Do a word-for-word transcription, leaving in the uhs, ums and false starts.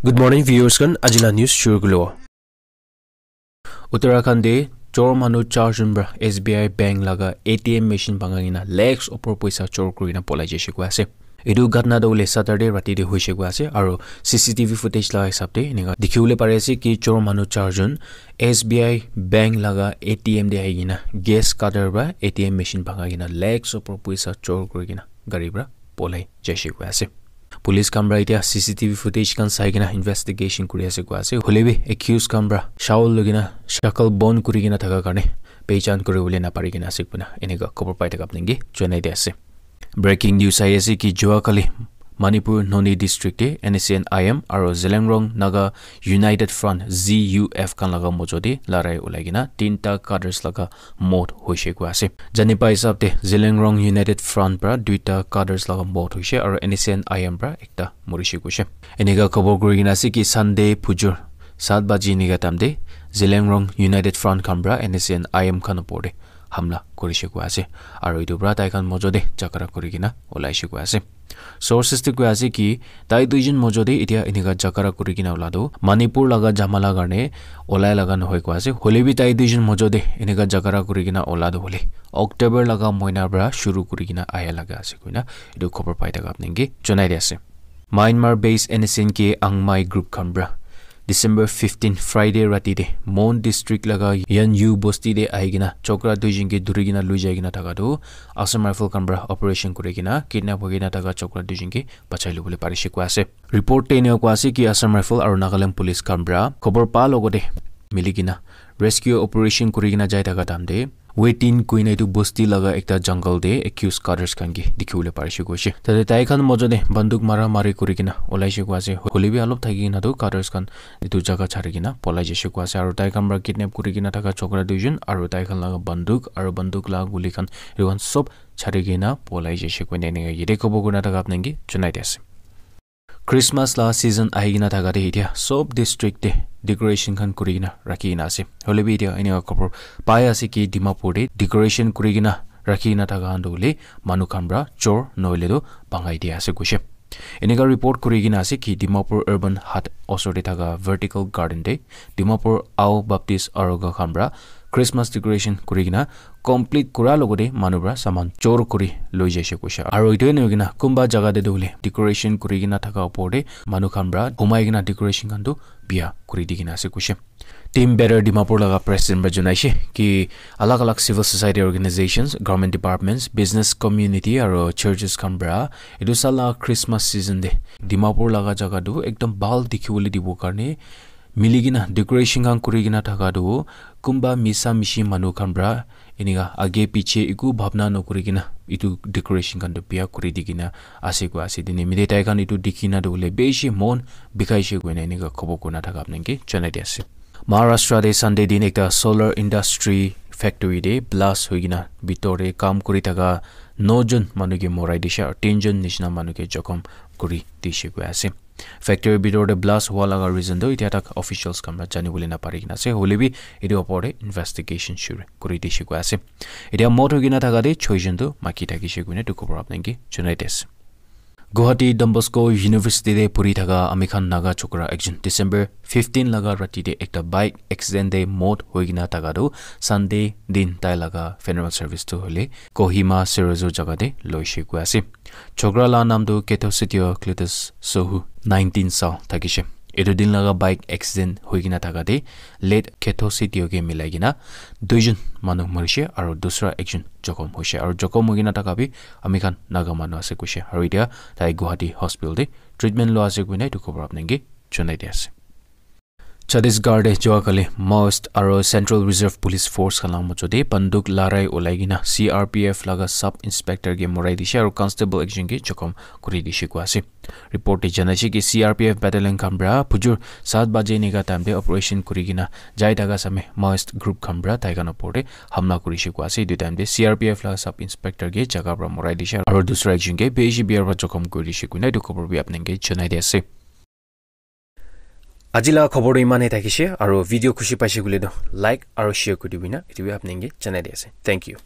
Good morning, viewers khan. Aji la news shuru kuribo. Uttarakhand de chor manu char jon pra S B I bank laga A T M machine banga kena lakhs opor poisa chor kurina polai jaise koi ase. Etu ghatna tu hoile Saturday rati de hoise koi ase, aro C C T V footage la hisab de enika dikhi bole pari ase ki chor manu char jon S B I bank laga A T M de ahi kena gas cutter pra A T M machine banga kena lakhs opor poisa chor kuri kena gari pra polai jaise koi ase. Police khan pra etia C C T V footage khan sai kena investigation kuri ase koi ase. Hoile bi accused khan pra shawl loi kena shakal bon kuri kena thaka karne pehchan kuri bole na pari kena ase koina enika khobor pai thaka apni ke jonai di ase. Breaking news ahi ase ki jua kali Manipur Noni district te N S C N I M aro Zeliangrong Naga United Front Z U F khan laga mojo te larai ulai kena tinta cadres laga mot hoise koi ase. Jani pai hisab te Zeliangrong United Front pra duita cadres laga mot hoise aro N S C N I M pra ekta morise koise. Enika khobor kuri kena ase ki Sunday phujur saat baji enika time te Zeliangrong United Front khan pra N S C N I M khan opor te hamla kurise koi ase. Aro etu pra tai khan mojo te jhagara kuri kena ulaise koi ase. Sources te koi ase ki tai duijon mojo te etia enika jhagara kuri kena ula tu Manipur laga jhamala karne ulai laga nohoi koi ase. Hoile bi tai duijon mojo te enika jhagara kuri kena ula tu hoile October laga moina pra shuru kuri kena aya laga ase koina etu khobor pai thaka apni ke jonai di ase. Myanmar based N S C N K Angmai group khan pra December fifteen Friday rati te Mon district laga Yanyu bosti te ahi kena chokra duijon ke dhuri kena lui jai kena thaka tu Assam Rifle khan pra operation kuri kena kidnap hoi kena thaka chokra duijon ke bachai lobole parise koi ase. Report te enika koi ase ki Assam Rifle aro Nagaland Police khan pra khobor pa logote mili kena rescue operation kuri kena jai thaka time te Wetin koina etu bosti laga ekta jungle te accused cadres khan ke dikhi bole parise koise. Tate tai khan mojo te banduk mara mari kuri kena ulaise koi ase. Hoile bi alop thaki kena tu cadres khan etu jaga chari kena polai jaise koi ase. Aro tai khan pra kidnap kuri kena thaka chokra duijon aro tai khan laga banduk aro banduk laga guli khan etu khan sob chari kena polai jaise koina enika yate khobor kurina thaka apni ke jonai di ase. Christmas la season ahi kena thaka te etia sob district te decoration khan kuri kena rakhi kena ase. Hoile bi etia enika khobor pai ase ki Dimapur te decoration kuri kena rakhi kena thaka khan tu hoile manu khan pra chor nohoile tu bangai dia ase koise. Enika report kuri kena ase ki Dimapur Urban Hut osor te thaka Vertical Garden te Dimapur Ao Baptist Aroga khan pra Christmas decoration kuri kena complete kura logote manu pra saman chor kuri loi jaise koise. Aro etu ena hoikena kunba jaga te tu hoile decoration kuri kena thaka opor te manu khan pra humai kena decoration khan tu biya kuri di kena ase koise. Team Better Dimapur laga president pra jonaise ki alag alag civil society organizations, government departments, business community aro churches khan pra etu sala Christmas season te Dimapur laga jaga tu ekdom bhal dikhi bole dibo karne mili kena decoration khan kuri kena thaka tu kunba misa mishi manu khan pra enika age piche eku bhabna nokuri kena etu decoration khan tu biya kuri di kena ase koi ase. Tene mide tai khan etu dikhi na tu hoile bishi mon bikhaise koina enika khobor kurina thaka apni ke jonai di ase. Maharashtra te Sunday din ekta solar industry factory te blast hoi kena bitor te kam kuri thaka no jon manu ke morai dishe aro tin jon nishina manu ke jokhom kuri dishe koi ase. Factory bitor te blast hua laga reason tu etia tak officials khan pra jani bole na pari kena ase. Hoile bi etu opor te investigation shuru kuri dishe koi ase. Etia mot hoi kena thaka te choi jon tu maki thakishe koina etu khobor apni ke jonai di ase. Guwahati Don Bosco University te puri thaka ami khan Naga chokra ekjon December fifteen laga rati te ekta bike accident te mot hoi kena thaka tu Sunday din tai laga funeral service tu hoile Kohima Serozo jaga te loise koi ase. Chokra la naam tu Ketho Sitio Cletus Sohu, nineteen sal thakishe. Etu din laga bike accident hoi kena thaka te late Ketho Sitio ke milai kena duijon manu morishe aro dusra ekjon jokhom hoishe aro jokhom hoi kena thaka bi ami khan Naga manu ase koishe aro etia tai Guwahati hospital te treatment lua ase koina etu khobor apni ke jonai di ase. Chhattisgarh te jua kali Maoist aro Central Reserve Police Force khan laga mojo te banduk larai ulai kena C R P F laga sub inspector ke morai dishe aro constable ekjon ke jokhom kuri dishe koi ase. Report te janaise ki C R P F battalion khan pra phujur saat baje enika time te operation kuri kena jai thaka samay Maoist group khan pra tai khan opor te hamla kurishe koi ase. Etu time te C R P F laga sub inspector ke jaga pra morai dishe aro dusra ekjon ke bishi biya pra jokhom kuri dishe koina etu khobor bi apni ke jonai di ase. Aji laga khobor tu iman e thakishe, aro video khushi paishe koile tu like aro share kuri dibi na, etu bi apni ke janai di ase. Thank you.